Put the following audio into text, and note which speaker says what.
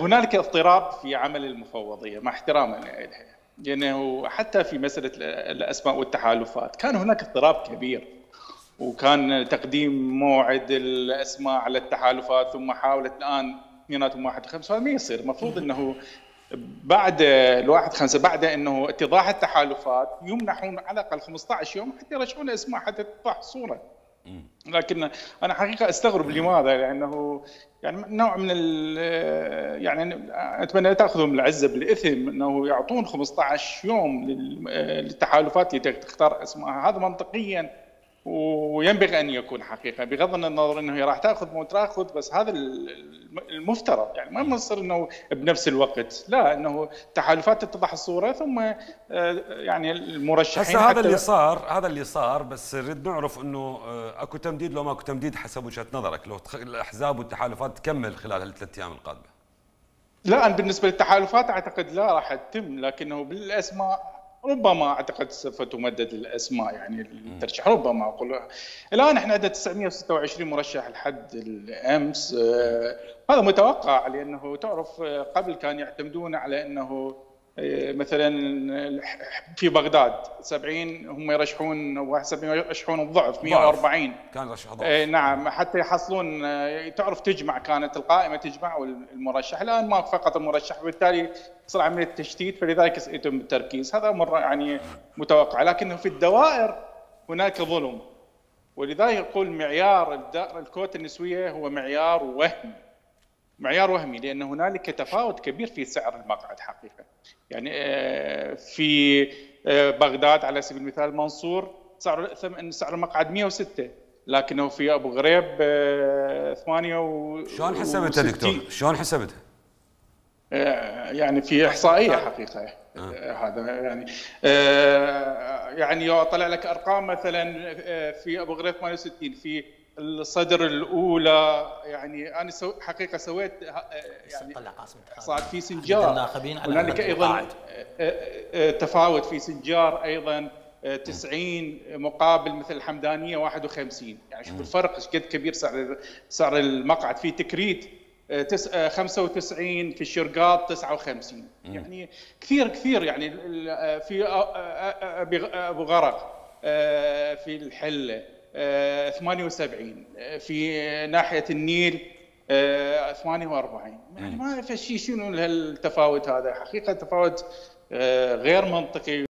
Speaker 1: هنالك اضطراب في عمل المفوضيه مع احترامنا لها، لانه حتى في مساله الاسماء والتحالفات كان هناك اضطراب كبير، وكان تقديم موعد الاسماء على التحالفات ثم حاولت الان اثنيناتهم 1/5. هذا ما يصير. المفروض انه بعد ال1/5 بعد انه اتضاح التحالفات يمنحون على الاقل 15 يوم حتى يرشحون اسماء حتى تتضح الصوره. لكن انا حقيقه استغرب لماذا، لانه يعني نوع من يعني اتمنى تاخذهم العزه بالاثم انه يعطون 15 يوم للتحالفات لتختار اسماء. هذا منطقيا وينبغي ان يكون حقيقه، بغض النظر انه هي راح تاخذ مو تاخذ، بس هذا المفترض. يعني ما يصير انه بنفس الوقت، لا، انه تحالفات تتضح الصوره ثم يعني المرشحين.
Speaker 2: هسه هذا اللي صار بس نريد نعرف انه اكو تمديد لو ما اكو تمديد حسب وجهه نظرك، لو الاحزاب والتحالفات تكمل خلال هالثلاث ايام القادمه؟
Speaker 1: لا، أنا بالنسبه للتحالفات اعتقد لا راح تتم، لكنه بالاسماء ربما اعتقد سوف تمدد الاسماء، يعني الترشيح ربما اقول. الان احنا عندنا 926 مرشح لحد الامس. هذا متوقع، لانه تعرف قبل كان يعتمدون على انه مثلا في بغداد 70 هم يرشحون، 71 يرشحون الضعف 140
Speaker 2: كان رشح ضعف.
Speaker 1: نعم، حتى يحصلون. تعرف تجمع، كانت القائمه تجمع والمرشح. الان ما فقط المرشح، وبالتالي صار عمليه تشتيت، فلذلك يتم التركيز. هذا امر يعني متوقع، لكنه في الدوائر هناك ظلم، ولذلك يقول معيار الكوتا النسويه هو معيار وهمي، لان هنالك تفاوت كبير في سعر المقعد حقيقه. يعني في بغداد على سبيل المثال منصور سعر المقعد 106، لكنه في ابو غريب 68.
Speaker 2: شلون حسبتها دكتور؟ شلون حسبتها؟
Speaker 1: يعني في احصائيه حقيقه. هذا يعني طلع لك ارقام، مثلا في ابو غريب 68، في الصدر الاولى. يعني انا حقيقه سويت يعني احصاءات في سنجار، هنالك ايضا تفاوت في سنجار ايضا 90 مقابل مثل الحمدانيه 51. يعني شوف الفرق ايش قد كبير سعر المقعد. في تكريت 95، في الشرقاط 59. يعني كثير. يعني في ابو غرق، في الحله 78، في ناحيه النيل 48. يعني ما في شيء. شنو التفاوت هذا؟ حقيقه تفاوت غير منطقي.